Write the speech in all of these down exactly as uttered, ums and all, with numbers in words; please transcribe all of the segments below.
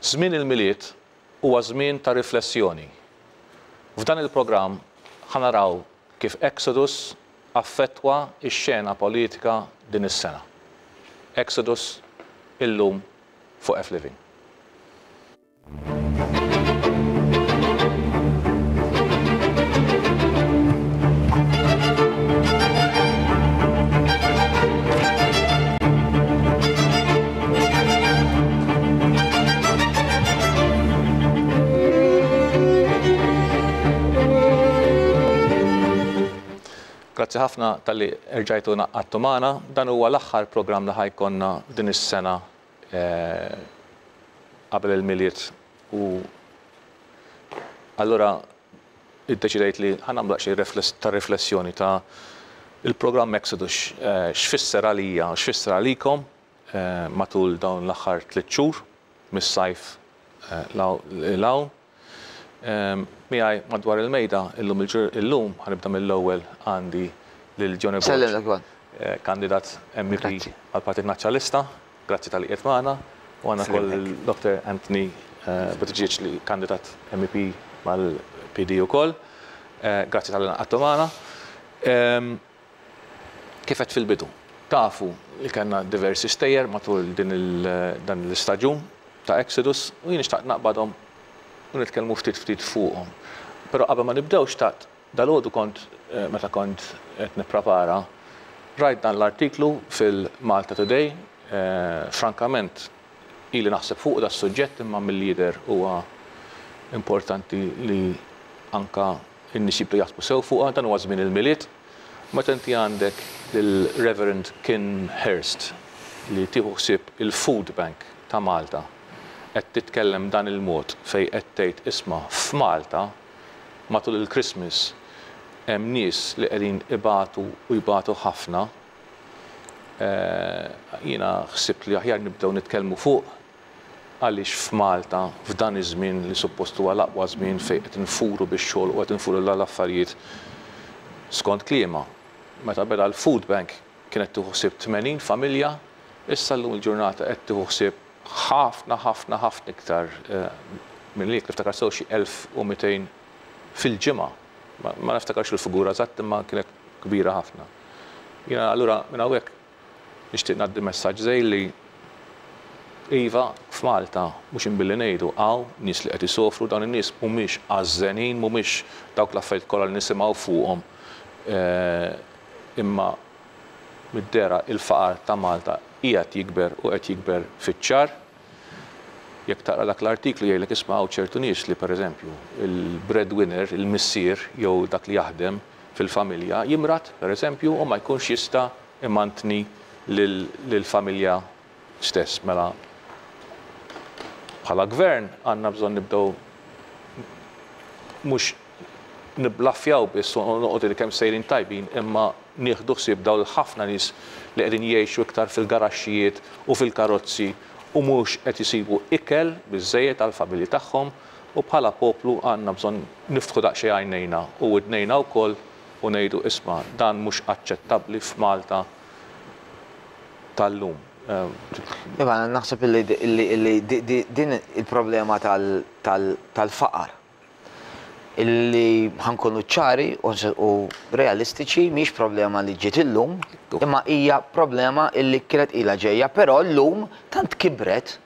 Żmien il-Milied huwa żmien ta' riflessjoni. F'dan il-programm ħa naraw kif Exodus affettwa x-xena politika din is-sena. Exodus illum fuq F Living. Grazzi ħafna talli rġajtu ngħaqadtu magħna. Dan huwa l-aħħar programm li ħa jkollna din is-sena qabel il-Milied u allura iddeċidejt li ħa nagħmlu daqsxejn ta' riflessjoni ta' il-programm Exodus x'fisser għalija u x'fisser għalikom matul dawn l-aħħar tliet xhur mis-sajf 'l hawn. Miegħi madwar il-mejda illum illum ħa nibda mill-ewwel għandi lil Johnny Borg, kandidat M E P għall-Partit Nazzjonalista. Grazzi talli qiegħed magħna. U għandna wkoll Doctor Anthony Buttigieg li kandidat M E P mal-P D ukoll. Grazzi talli ngħaqadtu magħna. Kif qed fil-bidu, tafu li kellna diversi stejjer matul din dan l-istaġun ta' Exodus u jien nixtaq naqbadhom u nitkellmu ftit ftit fuqhom. Però qabel ma nibdew xtaqt dalgħodu kont meta kont qed nipprepara rajt dan l-artiklu fil-Malta Today. Frankament ili naħseb fuq da suġġett imma mill-lider huwa importanti li anka n-nies jibdew jaħsbu sew fuqha. Dan huwa żmien il-Milied. Meta inti għandek lill-Reverend Kim Hurst li tieħu ħsieb il-Food Bank ta' Malta qed titkellem dan il-mod fejn qed tgħid isma' f'Malta matul il-Christmas hemm nies li qegħdin ibatu u jbatu ħafna. Jiena ħsibt li aħjar nibdew nitkellmu fuq għaliex f'Malta f'dan iż-żmien li suppost huwa l-aqwa żmien fejn qed infuru bix-xogħol u qed infuru l-affarijiet skont kliema. Meta beda l-Food Bank kienet tieħu ħsieb tmenin familja, issa llum il-ġurnata qed tieħu ħsieb ħafna ħafna ħafna iktar minn li niftakar sew xi elf u mitejn fil-ġimgħa. Ma niftakarx il-figura eżatt imma kienet kbira ħafna. Jiena allura minn hawnhekk nixtieq ngħaddi messaġġ żej li iva f'Malta mhux inbilli ngħidu hawn nies li qed isofru, dawn in-nies mhumiex għażżenin, mhumiex dawk l-affarijiet kollha li nisimgħu fuqhom, imma mid-dera il-faqar ta' Malta qiegħed jikber u qed jikber fiċ-ċar. Jekk taqra dak l-artiklu jgħidlek isma' hawn ċertu nies li pereżempju il-breadwinner, il-missier jew dak li jaħdem fil-familja jimrad pereżempju u ma jkunx jista' imantni lill-familja stess. Mela bħala gvern għandna bżonn nibdew mhux niblaffjaw biss u noqogħdu li kemm sejrin tajbin imma nieħdu ħsieb dawn ħafna nies li qegħdin jgħixu iktar fil-garaxxijiet u fil-karozzi u mhux qed isibu ikel biżżejjed għall-familji tagħhom u bħala poplu għandna bżonn niftħu daqsxejn għajnejna u widnejna wkoll u ngħidu isma' dan mhux aċċettabbli f'Malta tal-lum. Iva, naħseb illi din il-problema tal-faqar illi ħankunu ċari u realistiċi mhix problema li ġiet illum, imma hija problema illi kienet ilha ġejja, però llum tant kibret,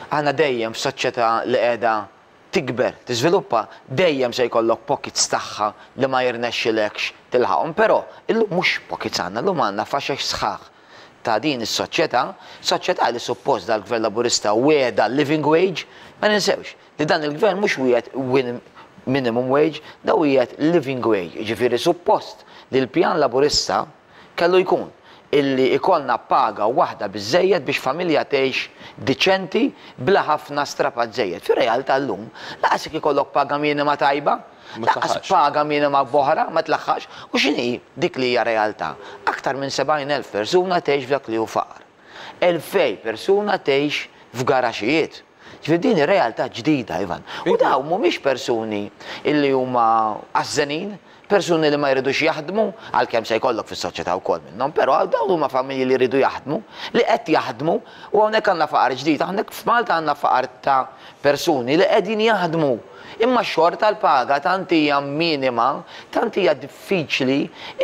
aħna dejjem f'soċjetà li qiegħda tikber, tiżviluppa, dejjem se jkollok pockets tagħha li ma jirnexxilekx tilħaqhom, però illum mhux pockets għandna, llum għandna faxex sħaħ ta' din is-soċjetà, soċjetà li suppost dal-Gvern Laburista wiegħda living wage, ma ninsewx li dan il-gvern mhux wieħed minimum wage, da wieħed living wage, ġifieri suppost li l-pjan Laburista kellu jkun illi ikollna paga waħda biżżejjed biex familja tgħix diċenti bla ħafna strapazzejiet. Fir-realtà llum laqas jekk ikollok paga minima tajba, laqas paga minima boħra ma tlaħħax, u x'inhi dik li hija realtà? Aktar minn sebgħin elf persuna tgħix f'dak li hu faqar. Elfej persuna tgħix f'garaxijiet. Ġifieri din ir-realtà ġdida, Ivan. U dawn mhumiex persuni illi huma għażżenin, Persuni li ma jridux jaħdmu, għalkemm se jkollok fis-soċjetà wkoll minnhom, però dawn huma familji li jridu jaħdmu, li qed jaħdmu, u hawnhekk għandna faqar ġdid, hawnhekk f'Malta għandna faqar ta' persuni li qegħdin jaħdmu. Imma xorta l-paga tant hija minima, tant hija diffiċli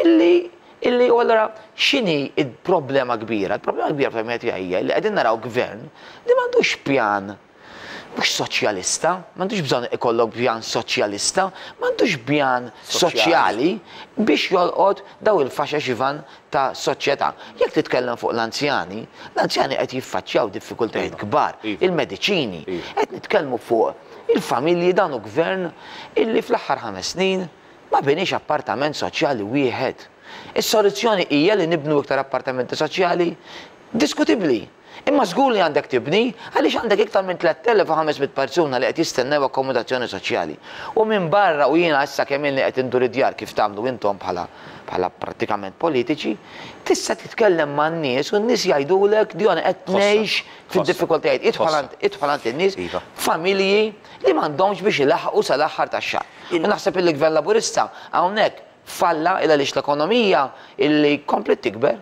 illi illi u allura x'inhi il-problema kbira? Il-problema kbira fl-opinjoni tiegħi hija li qegħdin naraw gvern li m'għandux pjan mhux soċjalista, m'għandux bżonn ikollok pjan soċjalista, m'għandux pjan soċjali biex jolqot daw il-faxex, Ivan, ta' soċjetà. Jekk titkellem fuq l-anzjani, l-anzjani qed jiffaċċjaw diffikultajiet kbar, il-mediċini, qed nitkellmu fuq il-familji. Dan hu gvern illi fl-aħħar ħames snin ma biniex appartament soċjali wieħed. Is-soluzzjoni hija li nibnu iktar appartamenti soċjali? Diskutibbli. Imma żgur li għandek tibni, għaliex għandek iktar minn tliet elef u ħames mitt persuna li qed jistennew akkomodazzjoni soċjali. U minn barra, u jiena issa kemm ilni qed indur id-djar, kif tagħmlu intom bħala bħala prattikament politiċi, tista' titkellem man-nies u n-nies jgħidulek: "Dion, qed ngħix fid-diffikultajiet." Idħol għand in-nies, Iva. familji li m'għandhomx biex ilaħqu sal-aħħar tax-xahar. U naħseb il-gvern Laburista hawnhekk falla, illa għaliex l-ekonomija illi komplet tikber,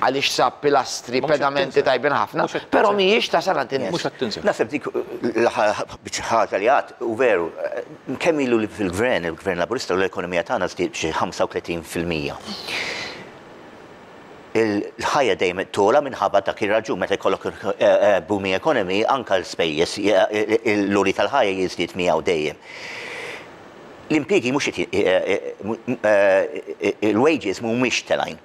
għaliex sab pilastri, Ma mhux qed pedamenti tinsa. tajbin ħafna, Mhux qed però tinsa. mhijiex tasal għand in-nies. Mhux qed tinsa. Naħseb dik l-aħħar ħaġa li għedt u veru, kemm ilu li fil-gvern, il-gvern Laburista, u l-ekonomija tagħna żdied b'xi ħamsa u tletin fil-mija. Il-ħajja dejjem togħla minħabba dak ir-raġun. Meta jkollok eh, eh, booming economy, anka l-spejjeż, l-għoli tal-ħajja jiżdied miegħu dejjem. L-impjiegi mhux qed, eh, eh, il-wages mhumiex telgħin.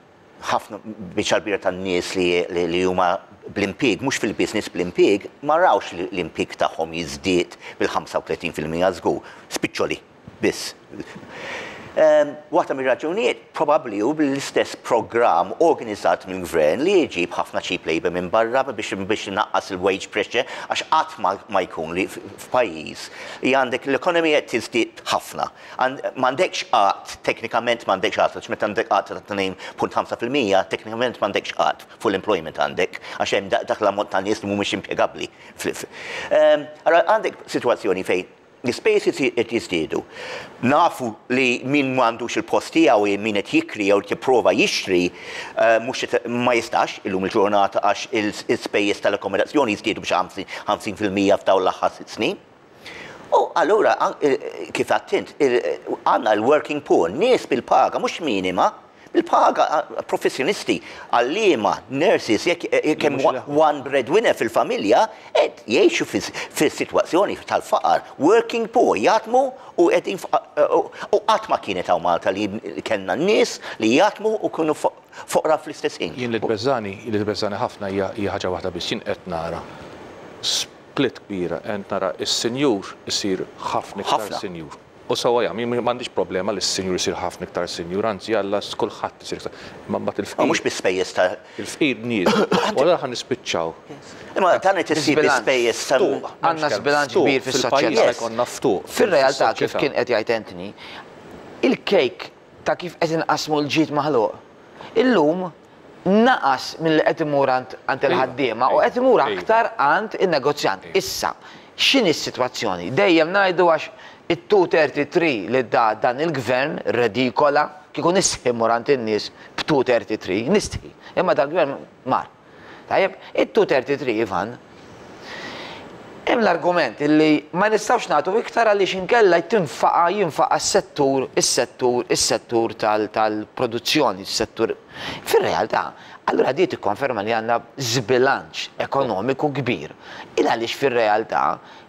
Ħafna biċċa kbira tan-nies li li- li huma bl-impjieg, mhux fil-business bl-impjieg, ma rawx li l-impjieg tagħhom jiżdied bil-ħamsa u tletin fil-mija żgur. Spiċċoli biss. Ehm, Waħda mir-raġunijiet probabbli hu bl-istess programm organizzat mill-gvern li jġib ħafna cheap labor minn barra biex biex naqqas il-wage pressure, għax qatt ma, ma jkun li f- f'pajjiż li għandek l-ekonomija tiżdied ħafna. Għand- M'għandekx qatt, teknikament m'għandekx qatt, għax meta għandek qatt ta' tnejn punt ħamsa fil-mija, teknikament m'għandekx qatt, full employment għandek, għax hemm dak dak l-ammont ta' nies li mhumiex impjegabbli. Ehm, Allora għandek sitwazzjoni fejn l-ispejjeż qed jiżdiedu. Nafu li min m'għandux il-post tiegħu, min qed jikri jew jipprova jixtri, eh, mhux qed- ma jistax illum il-ġurnata għax il-spejjeż tal-akkomodazzjoni jiżdiedu b'xi ħamsin fil-mija f'dawn l-aħħar sitt snin. U allura, an- il- kif għedt int, il- għandna l-working poor, nies bil-paga, mhux minima, bil-paga, eh, professjonisti, għalliema, nurses, jekk jekk hemm Mhux ilaħħqu. one breadwinner fil-familja, qed jgħixu fis-sitwazzjoni tal-faqar, working poor, jaħdmu u qegħdin u qatt ma kienet hawn Malta li kellna nies li jaħdmu u kienu foqra fl-istess ħin. Jien li tbeżżagħni, li tbeżżagħni ħafna hija hija ħaġa waħda biss. Jien qed nara split kbira, qed nara is-sinjur isir ħafna iktar Ħafna. sinjur. U sewwa jagħmel, jien m'għandix problema li s-sinjur isir ħafna iktar sinjur, anzi Alla kulħadd isir iktar. Imma mbagħad Ma mhux il-fqir, bi-spejjeż ta' il-fqir nies. U allura ħa nispiċċaw. Imma dan qed issir Biżbilanċ. bi-spejjeż ta' Ftuq. Għandna żbilanċ kbir fis-soċjetà. Fil-pajjiż Yes. jkollna ftuq. Fil-realtà, kif fis-soċjetà. kien qed jgħid Anthony, il-kejk ta' kif qed inqasmu l-ġid maħluq. Illum naqas mill-li qed imur għand għand il-ħaddiema u qed imur Iva. aktar għand in-negozjant. Issa, x'inhi s-sitwazzjoni? Dejjem ngħidu għax it-two thirty-three li da dan il-gvern redikola, kieku nistħi mmur għand in-nies b'two thirty-three, nistħi. Imma dal-gvern mar. Tajjeb, it-two thirty-three, Ivan, hemm l-argument illi ma nistgħux nagħtu iktar għaliex inkella tinfaqa jinfaqa s-settur, is-settur, is-settur tal- tal-produzzjoni, is-settur. Fir-realtà, allura di tikkonferma li għandna żbilanċ ekonomiku kbir. Il għaliex fir-realtà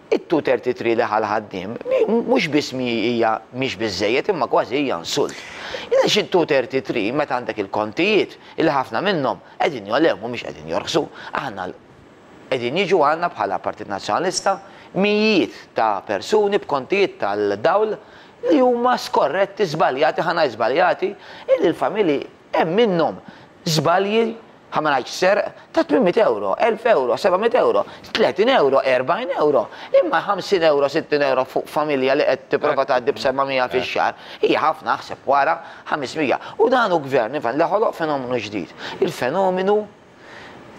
it-two thirty-three li ħal-ħaddim mhux biss mi hija mhix biżejjed, imma kważi hija insult. Il għaliex it-two thirty-three, meta għandek il-kontijiet illi ħafna minnhom qegħdin jogħlew, mhumiex qegħdin jorħsu, aħna qegħdin jiġu għandna bħala Partit Nazzjonalista mijiet ta' persuni b'kontijiet tal-dawl li huma skorretti, żbaljati, ħana żbaljati, illi l-familji hemm minnhom żbalji, ħa ma ngħidx serq, ta' tmien mitt euro, elf euro, seba' mitt euro, tletin euro, erbgħin euro, imma ħamsin euro, sittin euro fuq familja li qed tipprova tgħaddi b'seba' mija fix-xahar, hija ħafna, aħseb wara ħames mija. U dan hu gvern, Ivan, li ħoloq fenomenu ġdid. Il-fenomenu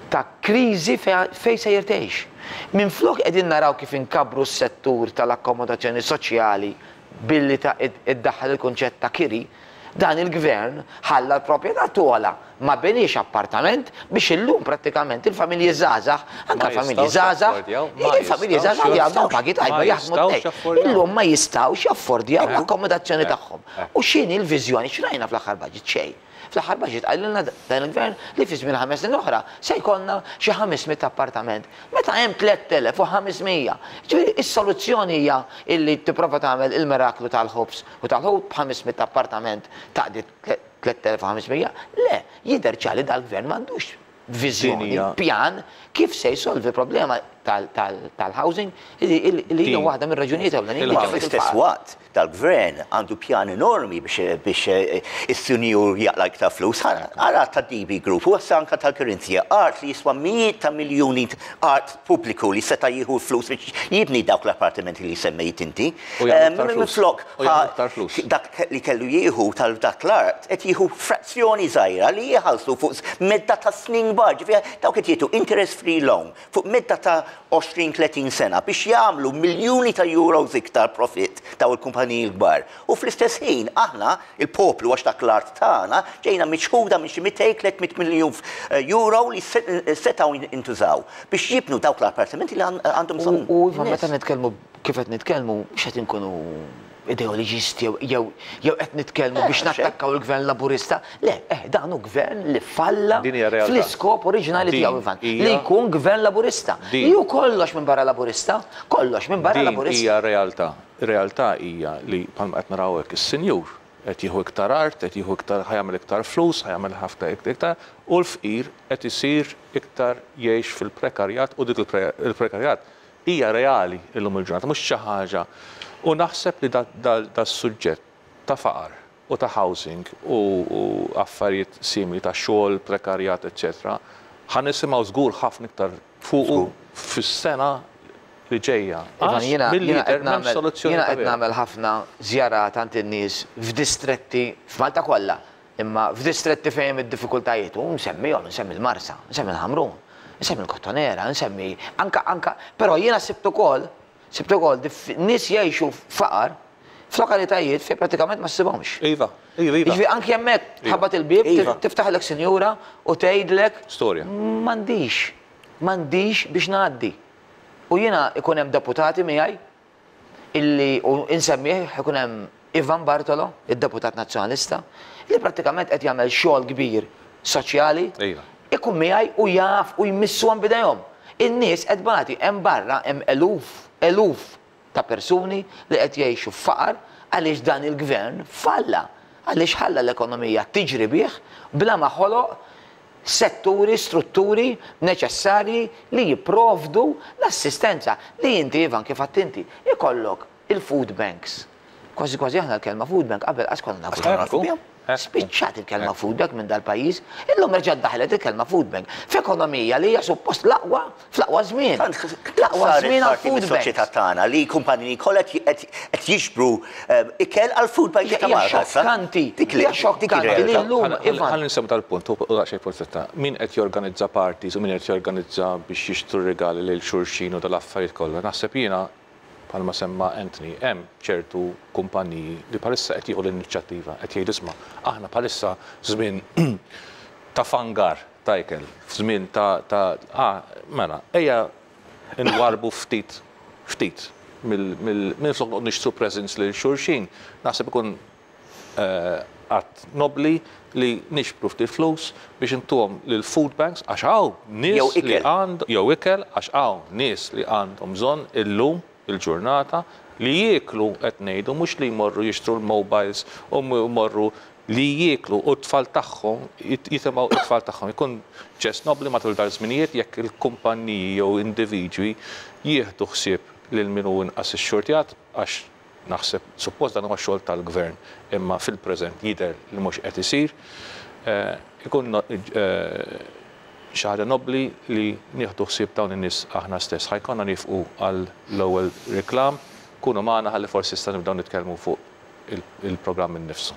ta' kriżi fej sejjer tgħix. Minn flok qegħdin naraw kif inkabru s-settur tal-akkomodazzjoni soċjali. billi ta' iddaħħal il-kunċett ta' kiri, dan il-gvern ħalla l-proprjetà togħla, ma beniex appartament biex illum prattikament il-familji żgħażagħ, anke familji żgħażagħ, il-familji żgħażagħ li għandhom pagi tajba jaħdmu tnejn, illum ma jistgħux jaffordjaw l-akkomodazzjoni tagħhom. U x'inhi l-viżjoni? X'rajna fl-aħħar budget? Xejn. Fl-aħħar budget qalilna dan il-gvern li fi żmien ħames snin oħra se jkollna xi ħames mitt appartament. Meta hemm tliet elef u ħames mija. Ġifieri is-soluzzjoni hija illi tipprova tagħmel il-miraklu tal-ħobż u tal-ħut b'ħames mitt appartament taqdi tliet elef u ħames mija. Le, jidher ċar li dal-gvern m'għandux viżjoni, pjan kif se jsolvi problema tal-housing li hija waħda mir-raġunijiet ewlenin. Fl-istess waqt dal-gvern għandu pjan enormi biex is-sinjur jaqla iktar flus. Ara ta' D B Group u anka tal-Korinthia, art li jiswa mijiet ta' miljuni art pubbliku li seta' jieħu flus biex jibni dawk l-appartamenti li semmejt inti. Minflok dak li kellu jieħu tal-dak l-art qed jieħu frazzjoni żgħira li jħallsu fuq medda ta' snin kbar, ġifieri dawk qed jieħdu interest free loan fuq medda ta' għoxrin tletin sena biex jagħmlu miljuni ta' euros iktar profit daw il-kumpaniji l-kbar. U fl-istess ħin aħna il-poplu għax dak l-art tagħna ġejna miċħuda minn xi mitejn tliet mitt miljun euro li setgħu intużaw biex jibnu dawk l-appartamenti li għandhom bżonn. U Ivan, meta nitkellmu kif qed nitkellmu, mhux qed inkunu ideoloġisti jew jew qed nitkellmu biex nattakkaw il-gvern Laburista. Le, eh, dan hu gvern li falla fl-iskop oriġinali tiegħu, Ivan, li jkun gvern Laburista. Li hu kollox minn barra Laburista, kollox minn barra Laburista. Din hija realtà. Ir-realtà hija li bħalma qed naraw hekk is-sinjur qed jieħu iktar art, qed jieħu iktar, ħajamel iktar flus, ħajamel ħafna iktar, u l-fqir qed isir iktar jgħix fil-prekarjat, u dik il-prekarjat hija reali illum il-ġurnata, mhux xi ħaġa. U naħseb li da suġġett ta' faqar u ta' housing u affarijiet simili ta' xogħol, prekarjat, eċċetera, ħa nisimgħu żgur ħafna iktar fuqu fis-sena li ġejja. Jiena qed nagħmel ħafna żjarat għand in-nies f'distretti f'Malta kollha, imma f'distretti fejn hemm id-diffikultajiet, u nsemmihom, nsemmi l-Marsa, nsemmi l-Ħamrun, nsemmi l-Kottonera, nsemmi anka anka, però jiena sibt ukoll sibt ukoll nies jgħixu f'faqar f'lokalitajiet fejn pratikament ma ssibhomx. Iva, iva, iva. Jiġifieri anke hemmhekk tħabbat il-bieb, tiftaħlek sinjura u tgħidlek storja. M'għandix, m'għandix biex ngħaddi. U jiena ikun hemm deputati miegħi illi u insemmih ikun hemm Ivan Bartolo, id-deputat nazzjonalista, li prattikament qed jagħmel xogħol kbir soċjali. Ikun miegħi u jaf u jmissuhom bidejhom. In-nies qed bagħti hemm barra hemm eluf, eluf ta' persuni li qed jgħixu f'faqar għaliex dan il-gvern falla, għaliex ħalla l-ekonomija tiġri bih bla ma ħoloq setturi, strutturi neċessarji li jipprovdu l-assistenza li inti, Ivan, kif għedt inti, ikollok il-food banks. Kważi kważi aħna l-kelma food bank qabel qas konna nafu. Spiċċat il-kelma food bank minn dal-pajjiż, illum reġgħet daħlet il-kelma food bank f'ekonomija li hija suppost l-aqwa fl-aqwa żmien. L-aqwa żmien għal food bank. Soċjetà tagħna li kumpaniji kollha qed jiġbru ikel għal food bank ta' Malta. Xokkanti, hija xokkanti li llum Ivan. Ħalli nsemmu tal-punt u daqsxejn forsi min qed jorganizza parties u min qed jorganizza biex jixtru regali lil xulxin u dal-affarijiet kollha. Naħseb jiena bħalma semma Anthony, hemm ċertu kumpaniji li bħalissa qed jieħu l-inizjattiva, qed jgħidu isma' aħna bħalissa żmien ta' fangar ta' ikel, f'żmien ta' ta' ah, mela, ejja nwarbu ftit ftit mill flok noqgħod nixtru presents lil xulxin, naħseb ikun att nobli li nixbru ftit flus biex intuhom lil food banks għax hawn nies li għandhom jew ikel għax hawn nies li għandhom bżonn illum il-ġurnata li jieklu qed ngħidu mhux li jmorru jixtru l-mobiles u jmorru li jieklu u t-tfal tagħhom jitimgħu t-tfal tagħhom. Ikun ġest nobli matul dal-żminijiet jekk il-kumpanniji jew individwi jieħdu ħsieb lil min hu inqas ix-xortjat għax naħseb suppost dan huwa xogħol tal-gvern imma fil-preżent jidher li mhux qed isir. Ikun xi ħaġa nobli li nieħdu ħsieb dawn in-nies aħna stess. Ħajkonna nifqu għal l-ewwel reklam, kunu magħna ħalli forsi issa nibdew nitkellmu fuq il-programm innifsu.